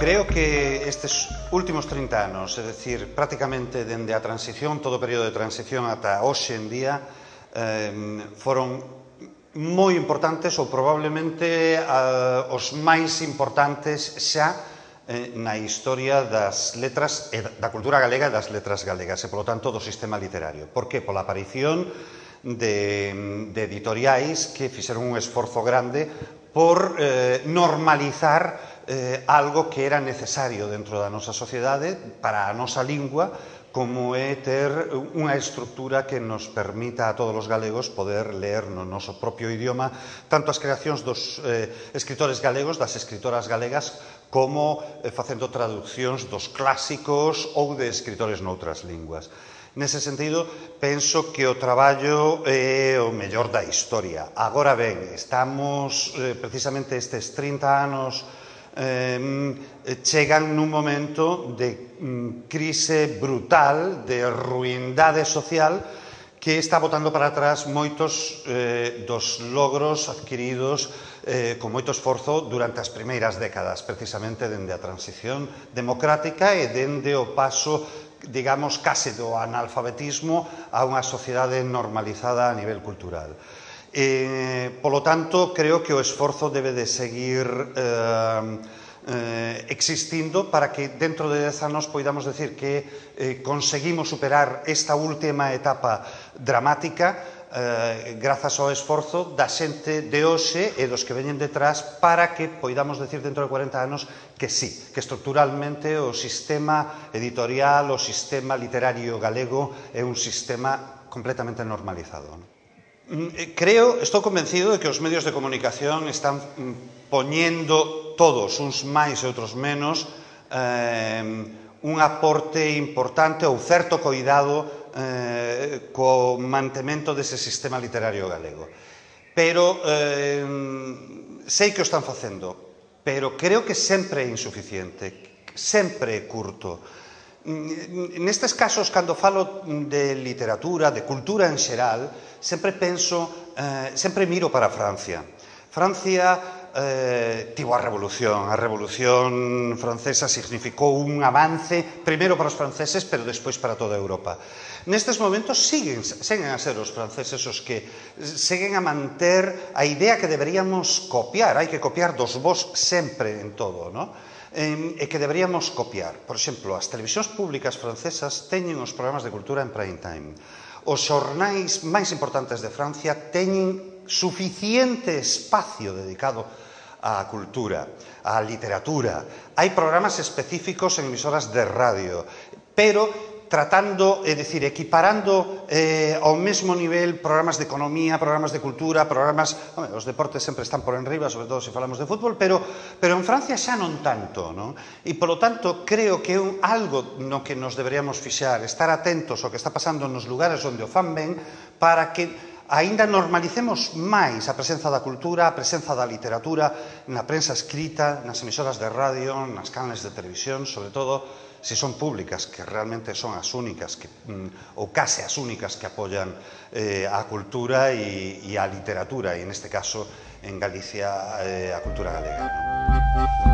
Creo que estes últimos 30 anos, é dicir, prácticamente dende a transición, todo o período de transición ata hoxe en día, foron moi importantes ou probablemente os máis importantes xa na historia das letras, da cultura galega e das letras galegas e, polo tanto, do sistema literario. Por que? Pola aparición de editoriais que fixeron un esforzo grande por normalizar algo que era necesario dentro da nosa sociedade para a nosa lingua, como é ter unha estrutura que nos permita a todos os galegos poder ler no noso propio idioma tanto as creacións dos escritores galegos, das escritoras galegas, como facendo traduccións dos clásicos ou de escritores noutras linguas. Nese sentido, penso que o traballo é o mellor da historia. Agora ben, estamos precisamente estes 30 anos chegan nun momento de crise brutal, de ruindade social, que está botando para atrás moitos dos logros adquiridos con moito esforzo durante as primeiras décadas, precisamente dende a transición democrática e dende o paso, digamos, case do analfabetismo a unha sociedade normalizada a nivel cultural. Polo tanto, creo que o esforzo debe de seguir existindo para que dentro de 10 anos poidamos decir que conseguimos superar esta última etapa dramática grazas ao esforzo da xente de hoxe e dos que veñen detrás para que poidamos decir dentro de 40 anos que sí, que estruturalmente o sistema editorial, o sistema literario galego é un sistema completamente normalizado. Estou convencido de que os medios de comunicación están poñendo todos, uns máis e outros menos, un aporte importante ou certo coidado co mantemento dese sistema literario galego. Pero sei que o están facendo, pero creo que sempre é insuficiente, sempre é curto. Nestes casos, cando falo de literatura, de cultura en xeral, sempre penso, sempre miro para Francia. Francia tivo a Revolución Francesa significou un avance, primeiro para os franceses, pero despois para toda Europa. Nestes momentos seguen a ser os franceses os que seguen a manter a idea que deberíamos copiar, hai que copiar dos vós sempre en todo, non? E que deberíamos copiar. Por exemplo, as televisións públicas francesas teñen os programas de cultura en prime time. Os xornais máis importantes de Francia teñen suficiente espacio dedicado á cultura, á literatura. Hai programas específicos en emisoras de radio, pero tratando, é dicir, equiparando ao mesmo nivel programas de economía, programas de cultura, programas... Os deportes sempre están por enriba, sobre todo se falamos de fútbol, pero en Francia xa non tanto, non? E, polo tanto, creo que é algo no que nos deberíamos fixar, estar atentos ao que está pasando nos lugares onde o fan ben, para que aínda normalicemos máis a presenza da cultura, a presenza da literatura na prensa escrita, nas emisoras de radio, nas canles de televisión, sobre todo se son públicas, que realmente son as únicas, ou case as únicas que apoian a cultura e a literatura, e neste caso, en Galicia, a cultura galega.